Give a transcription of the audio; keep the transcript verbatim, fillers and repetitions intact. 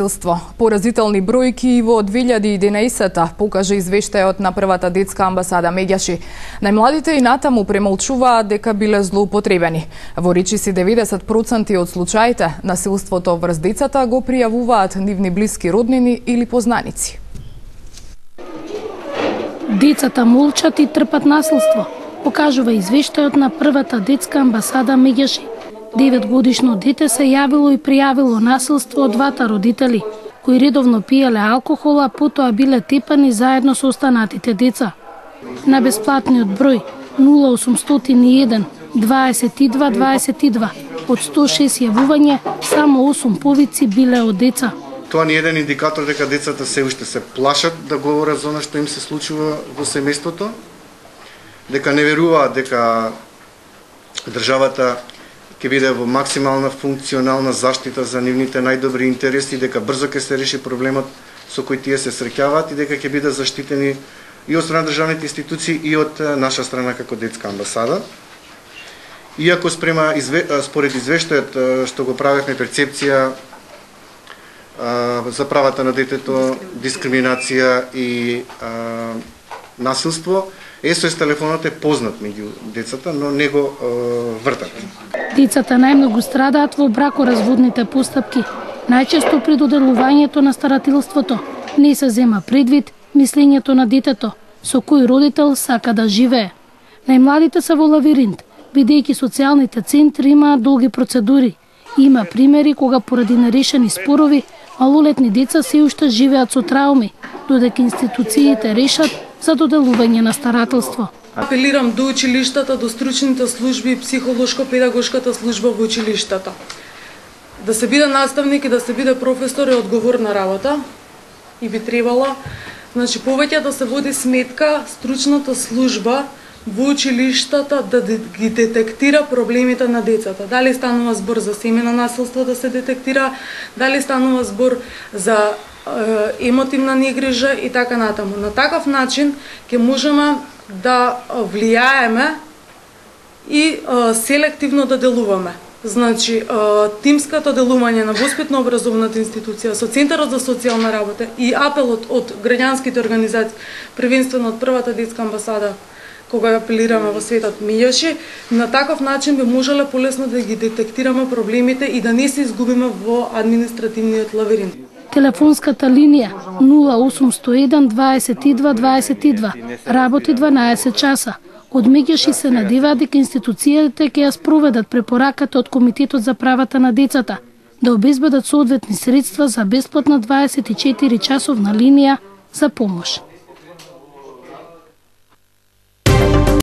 насилство. Поразителни бројки и во две илјади и единаесета покажа извештајот на првата детска амбасада Меѓаши. Најмладите и натаму премолчуваат дека биле злоупотребени. Во речиси деветдесет проценти од случаите насилството врз децата го пријавуваат нивни блиски роднини или познаници. Децата молчат и трпат насилство, покажува извештајот на првата детска амбасада Меѓаши. Деветгодишно дете се јавило и пријавило насилство од двата родители, кои редовно пиеле алкохол, а потоа биле тепани заедно со останатите деца. На бесплатниот број нула осумстотини и еден дваесет и два дваесет и два од сто и шест јавување, само осум повици биле од деца. Тоа не е еден индикатор дека децата се уште се плашат да говорат за она што им се случува во семејството, дека не веруваат дека државата ќе биде во максимална функционална заштита за нивните најдобри интереси, дека брзо ќе се реши проблемот со кој тие се среќаваат и дека ќе биде заштитени и од страна државните институции и од наша страна како детска амбасада. Иако спрема според извештајот што го правевме перцепција за правата на детето, дискриминација и а, насилство, ес о ес телефонот е познат меѓу децата, но не го е, вртат. Децата најмногу страдаат во бракоразводните постапки. Најчесто при доделувањето на старателството не се зема предвид мислењето на детето, со кој родител сака да живее. Најмладите се во лавиринт, бидејќи социјалните центри имаат долги процедури. Има примери кога поради нерешени спорови малолетни деца се уште живеат со трауми, додека институциите решат за доделување на старателство. Апелирам до училиштата, до стручните служби и психолошко-педагошката служба во училиштата. Да се биде наставник и да се биде професор е одговорна работа и би требала, значи, повеќе да се води сметка стручната служба во училиштата да ги детектира проблемите на децата. Дали станува збор за семејно насилство да се детектира, дали станува збор за е, емотивна негрижа и така натаму. На таков начин ќе можеме да влијаеме и е, селективно да делуваме. Значи, е, тимското делување на воспитно-образовната институција со Центарот за социјална работа и апелот од граѓанските организации, првенствено од првата детска амбасада, кога апелираме во светот Меѓаши, на таков начин би можеле полесно да ги детектираме проблемите и да не се изгубиме во административниот лавиринт. Телефонската линија нула осумсто еден дваесет и два дваесет и два работи дванаесет часа. Од Меѓаши се надеваат дека институциите ќе ја спроведат препораката од Комитетот за правата на децата да обезбедат соодветни средства за бесплатна дваесет и четири часовна линија за помош.